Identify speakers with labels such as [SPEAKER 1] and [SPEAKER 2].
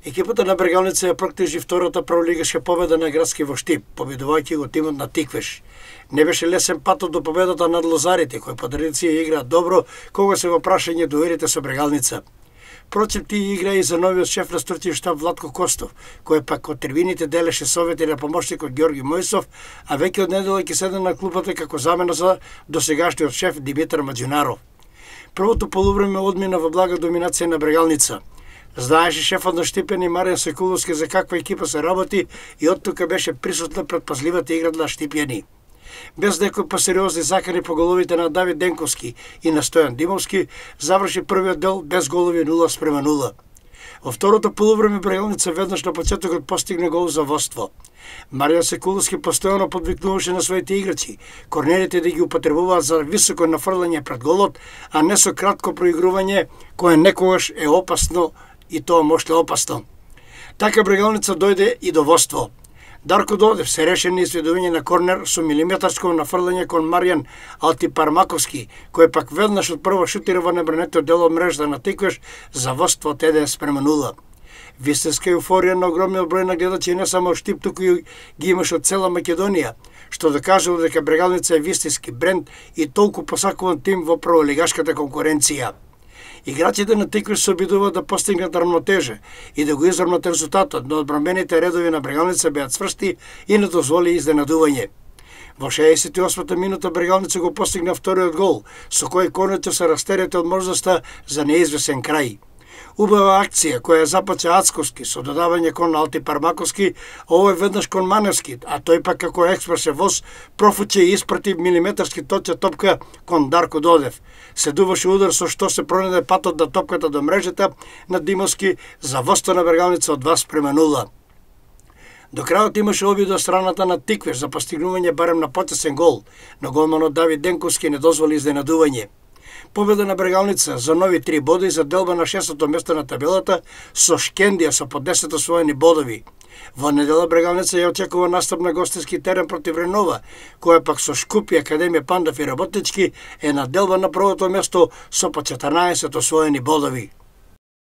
[SPEAKER 1] Екипата на Брегалница ја проктежи втората прволигашка победа на градски во Штип, победувајќи го тимот на Тиквеш. Не беше лесен патот до победата над лозарите, кои по традиција играат добро кога се во прашање дуелите со Брегалница. Впрочем, тие игра и за новиот шеф на структурен штаб Владко Костов, кој пак од трибините делеше совети на помошникот Ѓорги Мојсов, а веќе од недела ќе седне на клупата како замена за досегашниот шеф Димитар Маџунаров. Првото полувреме одмина во блага доминација на Брегалница. Знаеше шефот на Штипени Маријан Секуловски за каква екипа се работи и оттука беше присутна предпазливата игра на Штипјани. Без некои посериозни закани по головите на Давид Денковски и на Стојан Димовски, заврши првиот дел без голови 0:0. Во второто полувреме Брегалница веднаш на почетокот постигне гол за водство. Маријан Секуловски постојано подвикнуваше на своите играчи, корнерите да ги употребуваат за високо нафрлање пред голот, а не со кратко проигрување кое некогаш е опасно и тоа можда опасно. Така Брегалница дојде и до водство. Дарко Додев се решен на изведување на корнер со милиметарско нафрлање кон Маријан Алтипармаковски, кој пак веднаш од прво шутира во небранетиот дел од мрежата на Тиквеш за водство од 1:0. Вистинска еуфорија на огромниот број на гледачи не само од Штип, туку и ги имаше од цела Македонија, што докажува дека Брегалница е вистински бренд и толку посакуван тим во прволигашката конкуренција. Играчите на Тиквеш се обидуваат да постигнат равнотежа и да го изравнат резултатот, но одбранбените редови на Брегалница беа цврсти и не дозволи изненадување. Во 68-та минута Брегалница го постигна вториот гол, со кој конечено се растерете од можноста за неизвесен крај. Убава акција која започна Ацковски со додавање кон Алтипармаковски, овој веднаш кон Маневски, а тој пак како експресен воз профуче и испрати милиметарски точна топка кон Дарко Додев. Следуваше удар со што се пронајде патот на топката до мрежата на Димовски за водство на Брегалница од 2:0. До крајот имаше обид од страната на Тиквеш за постигнување барем на потесен гол, но голманот Давид Денковски не дозволи изненадување. Победа на Брегалница за нови 3 боди за делба на 6-то место на табелата со Шкендија со по 10 освоени бодови. Во недела Брегалница ја очекува настап на гостински терен против Ренова, која пак со Шкупи, Академија Пандав и Работнички е на делба на првото место со по 14 освоени бодови.